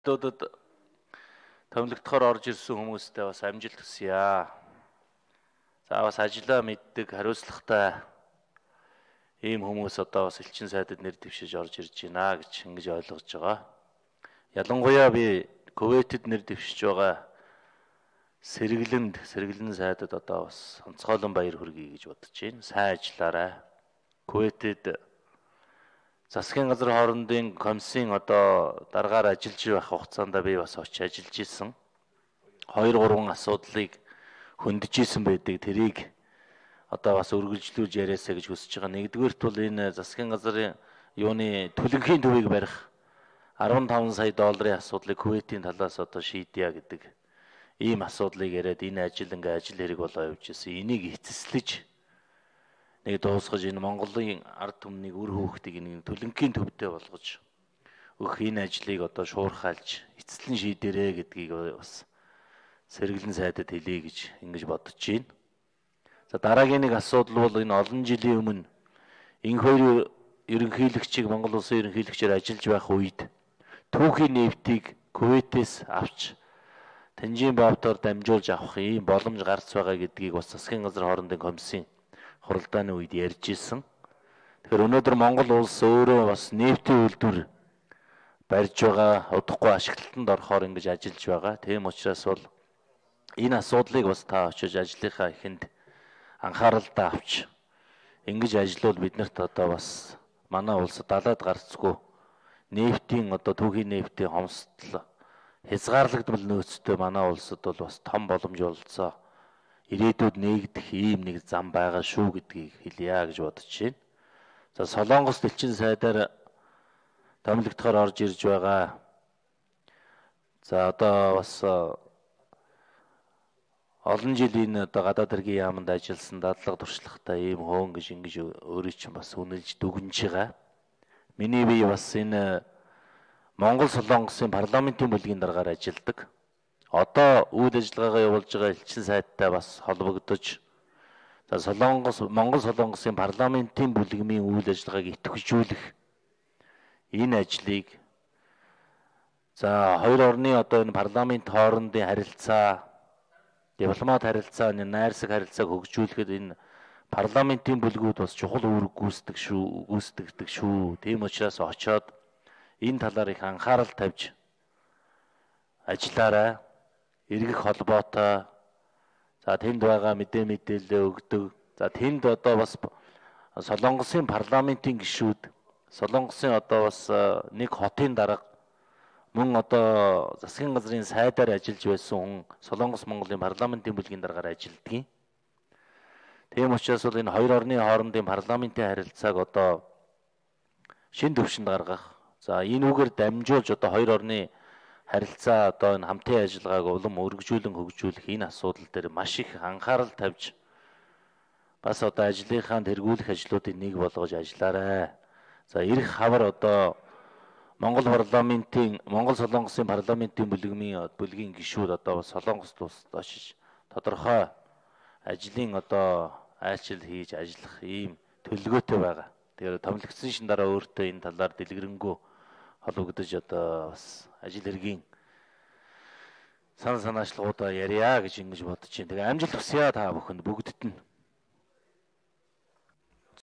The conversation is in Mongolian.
Сонирхолтуудад томилогдохоор орж ирсэн хүмүүстээ бас амжилт хүсье. За бас ажиллаа мэддэг, хариуцлагатай ийм хүмүүс одоо бас элчин сайдад нэр дэвшиж орж ирж байна гэж ингэж ойлгож байгаа. Ялангуяа би Кувейтэд нэр дэвшиж байгаа сэргэлэн сайдад одоо бас онцгойлон баяр хүргэе гэж бодож байна. Сайн ажиллаарай. Кувейтэд засгийн газар хоорондын комиссийн одоо дараагаар ажиллаж байх хугацаанд би бас очиж ажиллаж исэн. 2-3 асуудлыг хөндөж исэн байдаг. Тэрийг одоо бас үргэлжлүүлж яриасаа гэж хүсэж байгаа. Нэгдүгээрт бол энэ засгийн газрын юуны төлөнхийн төвийг барих 15 сая долларын асуудлыг Кувейтийн талаас одоо шийдъя гэдэг ийм асуудлыг яриад энэ ажил хэрэг болоо явж ирсэн. Энийг эцэслэж нэг дуусгаж энэ Монголын ард түмнийг үр хөөхтийг нэг төлөнхийн төвдөө болгож өгөх энэ ажлыг одоо шуурхайлж эцэслэн шийдэрээ гэдгийг бас сэргэлэн сайдад хэлье гэж ингэж бодож байна. За дараагийн нэг асуудал бол энэ олон жилийн өмнө энэ хоёр ерөнхийлөгчийг Монгол улсын ерөнхийлөгчөөр ажиллаж байх үед түүхийн нефтийг Кувейтээс авч Танжин Баавтаар дамжуулж авах ийм боломж гарч байгаа гэдгийг бас засгийн газар хоорондын комиссийн хуралдааны үед ярьж ирсэн. Тэгэхээр өнөөдөр Монгол улс өөрөө бас нефтийн үйлдвэр барьж байгаа, удахгүй ашиглалтанд орохоор ингэж ажиллаж байгаа. Тийм учраас бол энэ асуудлыг бас та очиж ажлынхаа эхэнд анхааралтай авч ингэж ажиллавал биднэрт одоо бас манай улсад далайд гарцгүй нефтийн одоо түүхийн нефтийн хомсдол хязгаарлагдмал нөөцтэй манай улсад бол бас том боломж олцоо ирээдүйд нээгдэх ийм нэг зам байгаа шүү гэдгийг хэлье гэж бодож байна. За Солонгос элчин сайдаар томилогдохоор орж ирж байгаа. За одоо бас олон жилийн одоо гадаад хэргийн яамд ажилласан дадлага туршлагатай ийм хөөн гэж ингэж өөрөө чинь бас үнэлж дүгнж байгаа. Миний бие бас энэ Монгол Солонгосын парламентын бүлгийн дараагаар ажилладаг. Одоо үйл ажиллагаагаа явуулж байгаа элчин сайдтай бас холбогдож за Монгол Солонгосын парламентын бүлгмийн үйл ажиллагааг идэвхжүүлэх энэ ажлыг за хоёр орны одоо энэ парламент хоорондын харилцаа, дипломат харилцаа, найрсаг харилцааг хөгжүүлэхэд энэ парламентын бүлгүүд бас чухал үүрэг гүйцэтгэдэг шүү. Тийм учраас очоод энэ талаар их анхаарал тавьж ажиллаарай. Иргэх холбоотой за тэнд байгаа мэдээлэл өгдөг. За тэнд одоо бас Солонгосын парламентын гишүүд, Солонгосын одоо бас нэг хотын дарга мөн одоо засгийн газрын сайдаар ажиллаж байсан хүн Солонгос Монголын парламентын бүлгийн дараагаар ажилладаг. Тийм учраас бол энэ хоёр орны хоорондын парламентын харилцааг одоо шин төвшөнд гаргах. За энэ үгээр дамжуулж одоо хоёр орны харилцаа одоо энэ хамтын ажиллагааг улам өргөжүүлэн хөгжүүлэх энэ асуудал дээр маш их анхаарал тавьж бас одоо ажлынхаа тэргүүлэх ажлуудыг нэг болгож ажиллаарай. За ирэх хавар одоо Монгол Солонгосын парламентын бүлгийн гишүүд одоо бас Солонгост улсад очиж тодорхой ажлын одоо айлчил хийж ажиллах ийм төлөвлөгөөтэй байгаа. Тэгэхээр томилогдсон шин дараа өөртөө энэ талаар дэлгэрэнгүй холбогдож одоо бас ажил хэргийн санаачлагуудаа ярья гэж ингэж бодож байна. Тэгээ амжилт хүсье та бүхэнд бүгдд нь.